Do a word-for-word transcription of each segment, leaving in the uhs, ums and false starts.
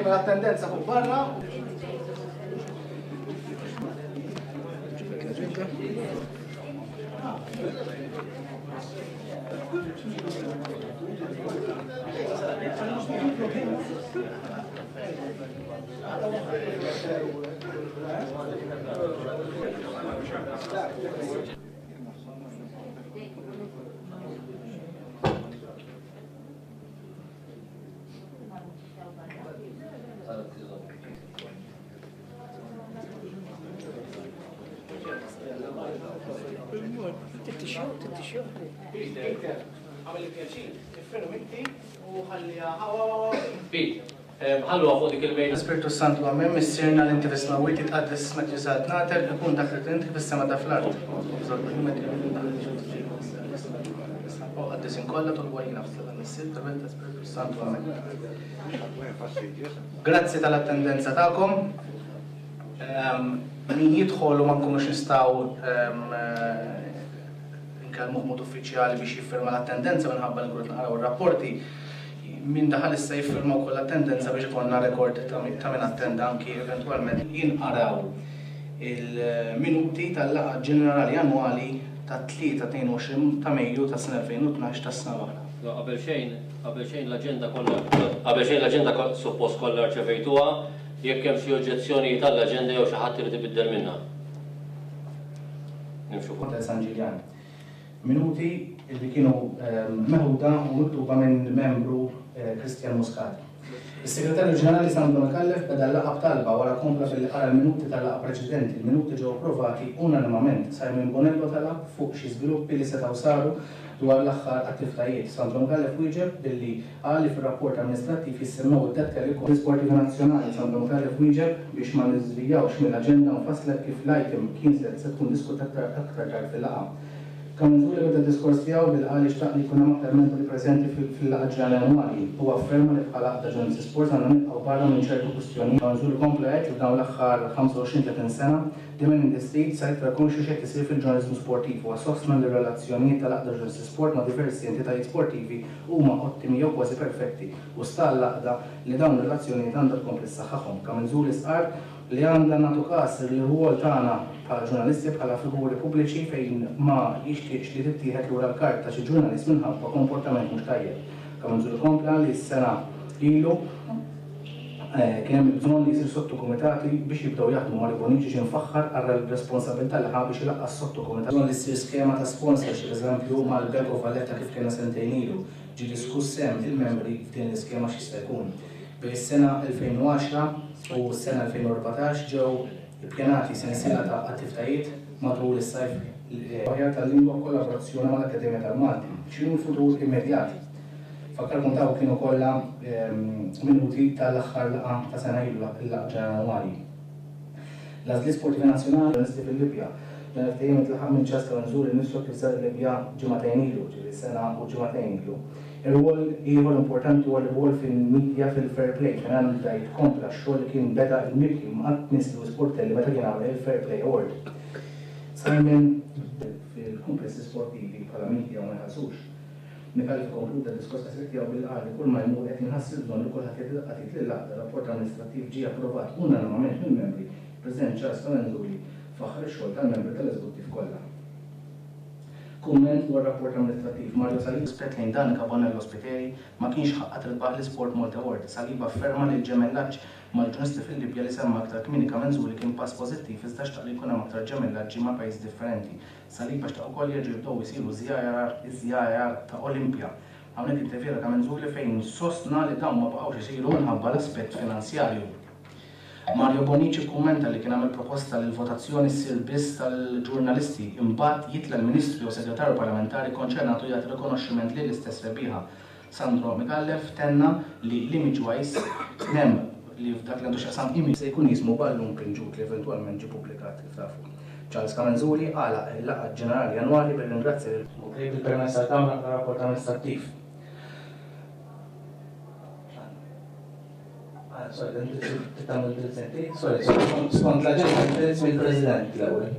Min l-attendenza fuq barra. Peter, għamel il-pjaċir, iffirm inti u ħalliha Pete, ħalluha fuq dik il-mejda. Spiritu Santu, Amen. Missierna li inti fis-smewwiet, jitqaddes ismek, tiġi saltnatek, ikun dak li trid fis-sema ta' fl-art. Qaddisin kollha tolbu għalina f'sala Missier, tal-Iben ta' Spiritu Santu. Amen. Grazzi tal-attendenza tagħkom. Min jidħol u ma nkunux nistgħu nkellmuh mod uffiċjali biex jiffirma l-attendenza minħabba li nkunu naqraw ir-rapporti, min daħal issa jiffirma wkoll l-attendenza biex ikollna rekord ta' min attenda anki eventwalment jinqaraw il-minuti tal-laqgħa ġenerali annwali ta' tlieta tnejn u għoxrin ta' Mejju tas-sena elfejn u tnax tas-sena l-oħra. Qabel xejn, qabel xejn l-aġenda kollha, qabel xejn l-aġenda suppost kollha rċevejtuha, jekk hemm xi oġġezzjonijiet għall-aġenda jew xi ħadd irid ibiddel minnha. Nimxu fuq. Hotel San Ġiljan. Minuti li kienu meħuda u miktuba minn membru Christian Muscat. Is-Segretarju Ġenerali Sandro Micallef beda l-laqgħa b'talba wara kompla billi qara l-minuti tal-laqgħa preċedenti. Il-minuti ġew approvati unanimament. Simon Bonello talab fuq xi żviluppi li setgħu saru dwar l-aħħar attivitajiet. Sandro Micallef wieġeb billi qal li fir-rapport amministrattiv jissemmew id-dettalji kollha. Sportivi Nazzjonali Sandro Micallef wieġeb biex ma niżvijawx mill-aġenda u nfasslet kif l-item kien se tkun diskutata aktar, aktar tard fil-laqgħa. Camenzuli beda d-diskors tiegħu billi qal li xtaq li jkun hemm aktar membri preżenti fil-laqgħa ġenerali annwali. Huwa afferma li bħala għaqda ġurnalisti sport għandna nibqgħu barra minn ċertu kwistjonijiet. Camenzuli kompla jgħid li f'dawn l-aħħar ħamsa u għoxrin tletin sena The Man in the Street sar iktar konxju x'qed isir fil-ġurnaliżmu sportiv. Huwa sostna li r-relazzjonijiet tal-għaqda ġurnalisti sport ma' diversi entitajiet sportivi huma ottimi jew kważi perfetti u sta l-għaqda li dawn ir-relazzjonijiet għandha tkompli ssaħħaħhom. Camenzuli stqarr li għandha nagħtu każ li r-rwol tagħna bħala ġurnalisti bħala figuri pubbliċi fejn ma jixtieqx li tittieħed lura l-kart ta' xi ġurnalist minħabba komportament mhux tajjeb. Camenzuli kompla li s-sena ilu kien hemm bżonn li jsir sottokumitati biex jibdew jaħdmu. Mario Bonnici ġie mfaħħar għal responsabilità li ħa biex ilaqqa' s-sottokumitat. Bżonn li ssir skema ta' sponsorship, eżempju mal-Bank of Valletta kif kellna sentejn ilu. Ġie diskuss sehem il-membri f'din l-iskema x'jista' jkun. Bejn is-sena elfejn u għaxra u s-sena elfejn u erbatax ġew ippjanati sensiela ta' attivitajiet matul is-sajf aħjar tal-lingwa b'kollaborazzjoni mal-Akkademja tal-Malti. X'inhu l-futur immedjat? Fakkarkom taw kienu kollha minuti tal-aħħar laqgħa ta' sena ilu, il-laqgħa ġenerali annwali. L-għażliet sportivi nazzjonali ġurnalisti fil-Libja. Dan il-ftehim intlaħaq minn Charles Camenzuli nnifsu kif sar il-Libja ġimagħtejn ilu, ġifieri sena u ġimagħtejn ilu. Ir-rwol ieħor importanti huwa l-rwol fil-media fil-fair play, fejn għandha jitkompla x-xogħol li kien beda il-mibki ma' Miss Louis Portelli meta kien għamel il-Fair Play Award. Simon fil-kumplessi sportivi bħala media ma jħallsux. Micallef konkluda d-diskors qasir tiegħu billi qal li kull ma jmur qed jinħass il-bżonn li kulħadd jagħti daqqa t'id lill-għaqda. Rapport amministrattiv ġie approvat unanimament mill-membri. President Charles Camenzuli faħħar ix-xogħol tal-membri tal-eżekuttiv kollha. Kumment dwar rapport amministrattiv Mario Saliba rispett lejn Danica Bonello Spiteri ma kienx ħaqqa tirbaħ l-Sport Malta Award. Saliba afferma li l-ġemellaġġ mal-ġurnalisti fil-Libja li semma aktar kmieni Camenzuli kien pass pożittiv iżda xtaq li jkun hemm aktar ġemellaġġi ma' pajjiż differenti. Saliba xtaq ukoll jerġgħu jibdew isiru żjajar iż-żjajar ta' Olimpja. Hawnhekk intervjera Camenzuli fejn sostna li dawn ma baqgħux isiru minħabba l-aspett finanzjarju. Mario Bonnici kkummenta li kien għamel proposta li l-votazzjoni ssir biss tal-ġurnalisti, imbagħad jitla' l-Ministru jew Segretarju Parlamentari konċernatu jagħti rikonoxximent lill-istess rebbieħa. Sandro Micallef tenna li l-image wise kien hemm li f'dak li għandu x'jaqsam image se jkun jismu Ballun Pinġut li eventwalment ġie ppubblikat kif tafu. Charles Camenzuli għalaq il-laqgħa ġenerali annwali billi ringrazzja lil bil-permess tal-Kamra tar-rapport amministrattiv. Sorry, tagħmel indirizz inti? Sorry, skont l-aġenda indirizz mill-President l-ewwel.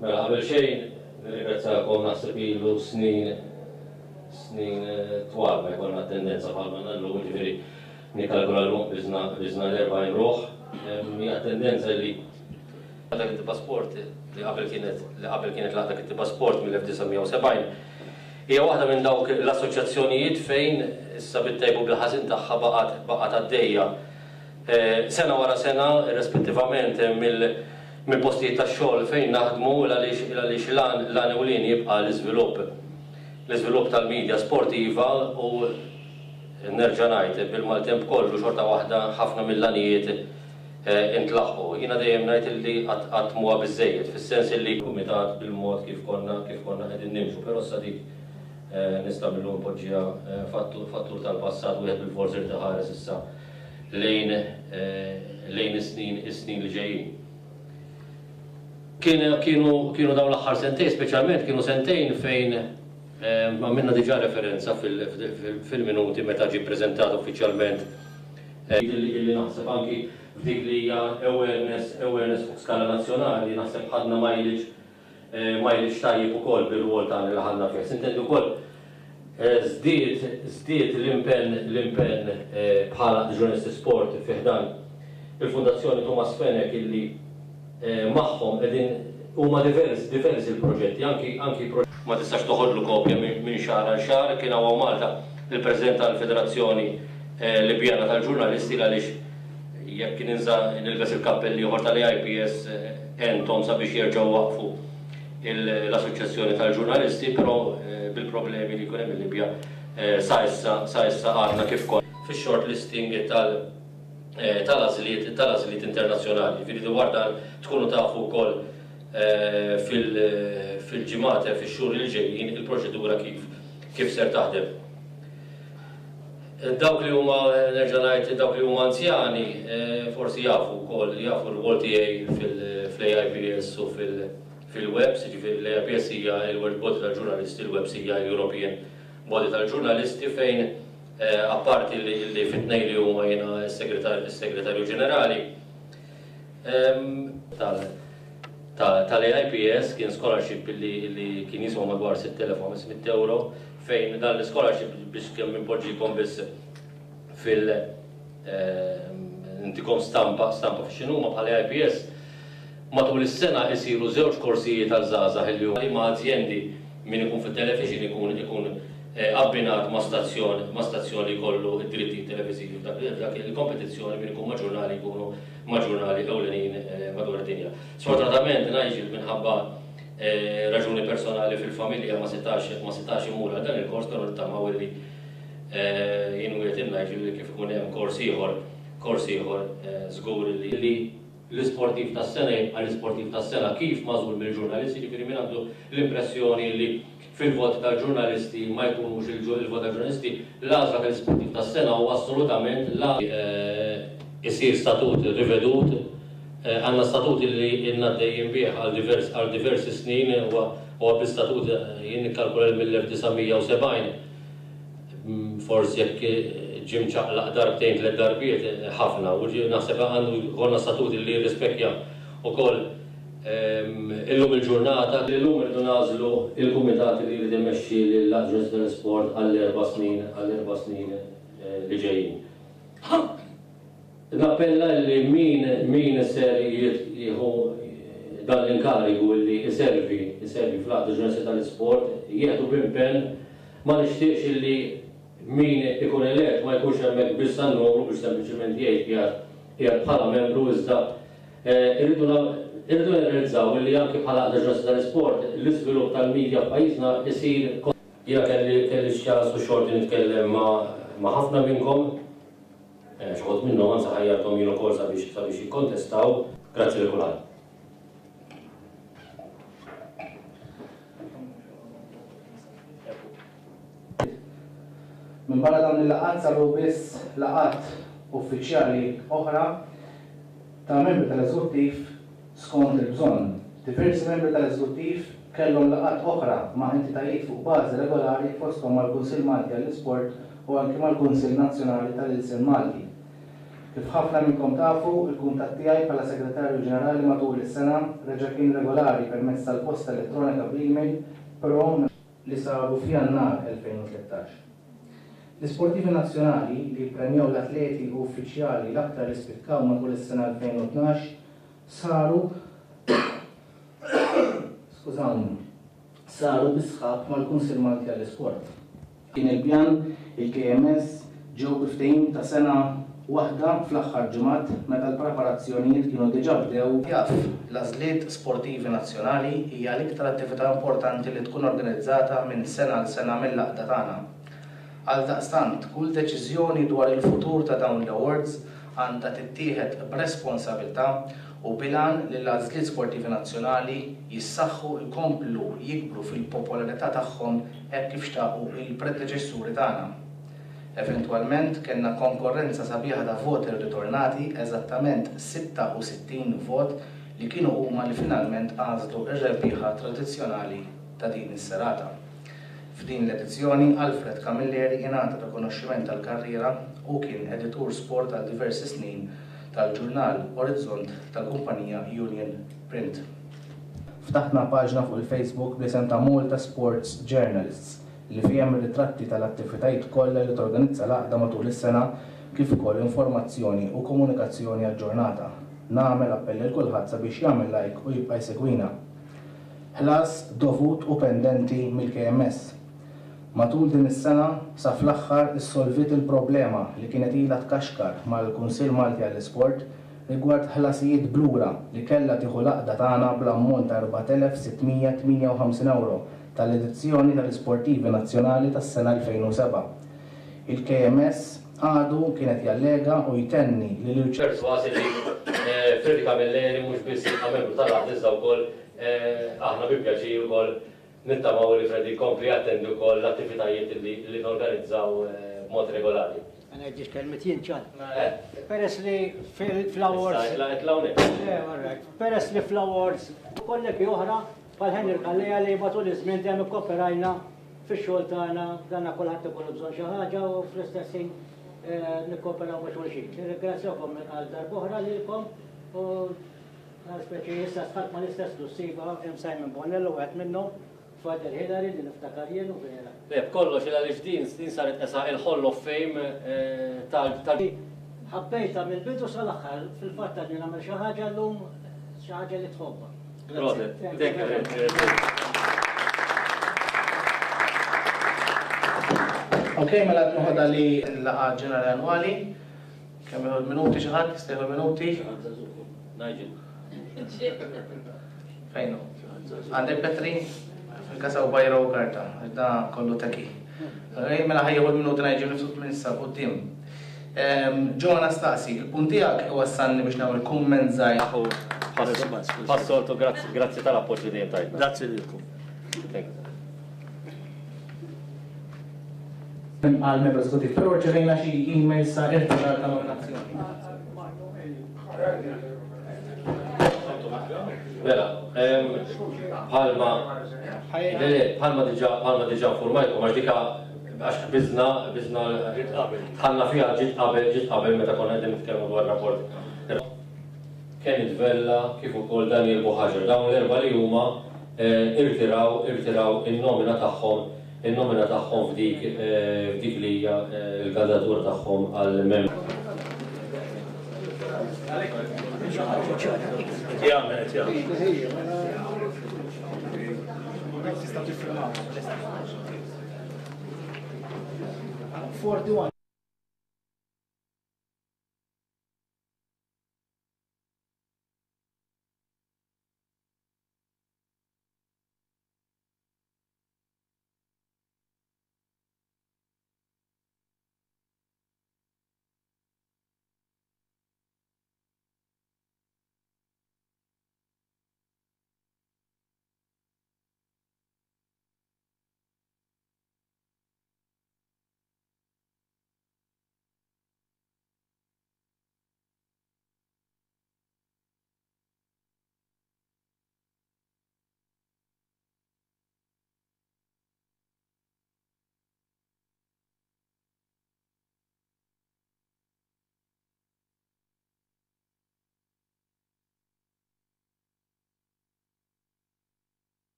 Mela qabel xejn nirringrazzjakom, naħseb ilu snin snin twal ma jkollna attendenza bħalma għandna llum, jiġifieri nikkalkula llum biżna biżna l-erbgħin ruħ. Hija tendenza li Għaqda Kittieba Sport li qabel kienet li qabel kienet l-Għaqda Kittieba Sport mill-elf disa' mija u sebgħin hija waħda minn dawk l-assoċjazzjonijiet fejn issa bit-tajjeb u bil-ħażin tagħha baqgħet baqgħet għaddejja sena wara sena irrispettivament mill mill-postijiet tax-xogħol fejn naħdmu għaliex għaliex l-għan l-għan ewlieni jibqa' l-iżvilupp l-iżvilupp tal-media sportiva u nerġa' ngħid bil-maltemp kollu xorta waħda ħafna mill-għanijiet intlaħqu. Jiena dejjem ngħid illi qatt qatt m'huwa biżżejjed fis-sens illi kumitat bil-mod kif konna kif konna qegħdin nimxu, però issa dik nista' mil-lum npoġġiha fattur fattur tal-passat wieħed bilfors irid iħares issa lejn lejn is-snin is-snin li ġejjin. Kien kienu kienu dawn l-aħħar sentejn speċjalment kienu sentejn fejn għamilna diġà referenza fil-minuti meta ġie ppreżentat uffiċjalment illi naħseb anki f'dik li hija awareness awareness fuq skala nazzjonali naħseb ħadna mileage mileage tajjeb ukoll bir-rwol tagħna li ħadna fih. Sintendi wkoll żdied żdied l-impenn l-impenn bħala ġurnalisti sport fi ħdan il-Fundazzjoni Thomas Fenech illi magħhom qegħdin huma diversi diversi l-proġetti anki anki ma tistax toħodlu kopja minn xahar għal xahar. Kien hawn Malta il-President tal-Federazzjoni Libjana tal-Ġurnalisti għaliex jekk ninża nilbes il-kappell ieħor tal-A I P S għenthom sabiex jerġgħu waqfu l-Assoċjazzjoni tal-Ġurnalisti, però bil-problemi li jkun hemm il-Libja sa issa sa issa għadna kif konna fix-short listing tal tal-għażliet tal-għażliet internazzjonali. Jiġifieri dwar dan tkunu tafu wkoll fil-ġimgħat fix-xhur li ġejjin il-proċedura kif kif ser taħdem. Dawk li huma nerġa' ngħid dawk li huma anzjani forsi jafu wkoll jafu r-rwol tiegħi fil-A I P S u fil-webs, jiġifieri l-A I P S hija l-World Body tal-Ġurnalisti, il-webs hija l-European Body tal-Ġurnalisti fejn apparti li fit-tnejn li huma jiena s-segretarju ġenerali tal-A I P S kien scholarship li kien jiswa madwar sitt elef u ħames mitt euro fejn dan l-scholarship biex kemm impoġġikom biss fil intikom stampa stampa f'x'inhuma bħala A I P S matul is-sena isiru żewġ korsijiet għal żgħażagħ li huma ma' azjendi min ikun fit-television ikun ikun abbinat ma' stazzjon ma' stazzjon li jkollu d-drittijiet televiżivi f'dak il-kompetizzjoni min ikun ma' ġurnali jkunu ma' ġurnali ewlenin madwar id-dinja. Sfortunatament Nigel minħabba raġuni personali fil-familja ma setax ma setax imur għal dan il-kors, però nittamaw illi jien wieħed il-Nigel li kif ikun hemm kors ieħor kors ieħor żgur li l-isportiv tas-sena jibqa' l-isportiv tas-sena kif magħżul mill-ġurnalisti, jiġifieri min għandu l-impressjoni li fil-vot tal-ġurnalisti ma jkunux il-vot tal-ġurnalisti, l-għażla tal-isportiv tas-sena huwa assolutament la isir statut rivedut, għandna statut li ilna għaddejjin bih għal diversi snin, huwa bl-istatut jien nikkalkula mill-elf disa' mija u sebgħin, forsi jekk ġie mċaqlaq darbtejn tliet darbiet ħafna, u naħseb għandu jkollna statut li jirrispekja wkoll illum il-ġurnata. Illum irridu nagħżlu il-kumitat li jrid imexxi lill-Aġenzija tal-Isport għall-erba' snin għall-erba' snin li ġejjin. Nappella li min min ser jieħu dan l-inkarigu li iservi iservi fl-Għaqda Ġurnalisti tal-Isport jieħdu b'impenn, ma nixtieqx illi min ikun elett ma jkunx hemmhekk biss għan-numru biex sempliċement jgħid qiegħed qiegħed bħala membru, iżda irridu irridu nirrealizzaw li anke bħala Għaqda Ġurnalisti tal-Isport l-iżvilupp tal-medja f'pajjiżna isir Jiena kelli kelli x-ċans u xorti nitkellem ma' ħafna minnkom, xi ħadd minnhom anzi ħajjarthom jien ukoll sabiex sabiex jikkontestaw. Grazzi lil kulħadd. Minn barra dawn il-laqgħat saru biss laqgħat uffiċjali oħra ta' membri tal-eżekuttiv skont il-bżonn. Diversi membri tal-eżekuttiv kellhom laqgħat oħra ma' entitajiet fuq bażi regolari fosthom mal-Kunsill Malti għall-Isport u anki mal-Kunsill Nazzjonali tal-Ilsien Malti. Kif ħafna minnkom tafu, il-kuntatt tiegħi bħala Segretarju Ġenerali matul is-sena reġa' kien regolari permezz tal-posta elettronika bl-email, però li saru f'Jannar elfejn u tlettax. L-isportivi nazzjonali li jippremjaw l-atleti u uffiċjali l-aktar li spikkaw matul is-sena elfejn u tnax saru skużawni, saru bi sħab mal-Kunsill Malti għall-Isport. Kien il-pjan il-K M S ġew bi ftehim ta' sena waħda fl-aħħar ġimgħat meta l-preparazzjonijiet kienu diġà bdew. Jaf, l-għażliet sportivi nazzjonali hija l-iktar attività importanti li tkun organizzata minn sena għal sena mill-għaqda tagħna. Għaldaqstant, kull deċiżjoni dwar il-futur ta' dawn l-awards għandha tittieħed b'responsabilità u bilan li l-għażliet sportivi nazzjonali jissaħħu jkomplu jikbru fil-popolarità tagħhom hekk kif xtaqu il-predeċessuri tagħna. Eventwalment kellna konkorrenza sabiħa ta' voti ritornati, eżattament sitta u sittin vot li kienu huma li finalment għażlu r-rebbieħa tradizzjonali ta' din is-serata. F'din l-edizzjoni Alfred Camilleri ingħata rikonoxximent tal-karriera u kien editur sport għal diversi snin tal-ġurnal Orizzont tal-kumpanija Union Print. Ftaħna paġna fuq il-Facebook bl-isem ta' Malta Sports Journalists li fiha hemm ritratti tal-attivitajiet kollha li torganizza l-għaqda matul is-sena kif ukoll informazzjoni u komunikazzjoni aġġornata. Nagħmel appell lil kulħadd sabiex jagħmel like u jibqa' jsegwina. Ħlas dovut u pendenti mill-K M S. Matul din is-sena sa fl-aħħar issolvit il-problema li kienet ilha tkaxkar mal-Kunsill Malti għall-Isport rigward ħlasijiet blura li kellha tieħu l-għaqda tagħna bl-ammont ta' erbat elef sitt mija tmienja u ħamsin euro tal-edizzjoni tal-Isportivi Nazzjonali tas-sena elfejn u seba'. Il-K M S għadu kienet jallega u jtenni li l-irċ- Perswas li, eh, Freddy Camilleri mhux biss jibqa' membru tal-għaqda iżda wkoll, eh, aħna bi pjaċir ukoll nittamaw li Freddy jkompli jattendi wkoll l-attivitajiet li, li norganizzaw, eh, b'mod regolari. Għana ġiex kelmet jien ċan. Eh. Peress li fil-awards. Issa, etla, etla hawnhekk. Le, all right. Peress li fl-awards kollegi oħra bħal Henry Calleja li matul iż-żmien dejjem ikkoperajna fix-xogħol tagħna, danna kulħadd ikollu bżonn xi ħaġa u fl-istess ħin, eh, nikkooperaw ma' xulxin. Nirringrazzjakom għal darb'oħra lilkom u għal speċi issa sħab ma' l-istess lussiva hemm Simon Bonello wieħed minnhom, Father Hillary li niftakar jien u vera. Le, b'kollox il għaliex din, din saret esa il-Hall of Fame, eh, tal-, tal- Ħabbejta mill-bidu sal-aħħar, fil-fatt li nagħmel xi ħaġa llum, xi ħaġa li tħobbha. Proset. Thank you. Ok, mela qed noħodha li l-laqgħa ġenerali annwali. Kemm jieħu minuti xi ħadd? Jista' jieħu minuti? Nigel. Fejn hu? Għandek Petri? Fil-kasa u bajra u karta, da kollu teki. Ok, mela ħa jieħu l-minuti Nigel nifsut minn issa quddiem. Ehm, Joe Anastasi, il-punt tiegħek iwassalni biex nagħmel kumment żgħir. Passoltu, grazzi, grazzi tal-appoġġ li dejjem tajtna. Grazzi lilkom. Thank you. Għal membru eżekutiv, però rċevejna xi email sa irtirar ta' nominazzjoni. Mela, ehm, bħalma, le, le, bħalma diġà, bħalma diġà informajkom, għax dika, għax biżna, biżna, tħallna fiha ġiet qabel, ġiet qabel meta konna qegħdin nitkellmu dwar rapport. Kenneth Vella kif ukoll Daniel Buhagiar, dawn l-erba' li huma, eh, irtiraw, irtiraw in-nomina tagħhom, in-nomina tagħhom f'dik, eh, f'dik li hija, eh, l-kandidatura tagħhom għal membru. Forty-one.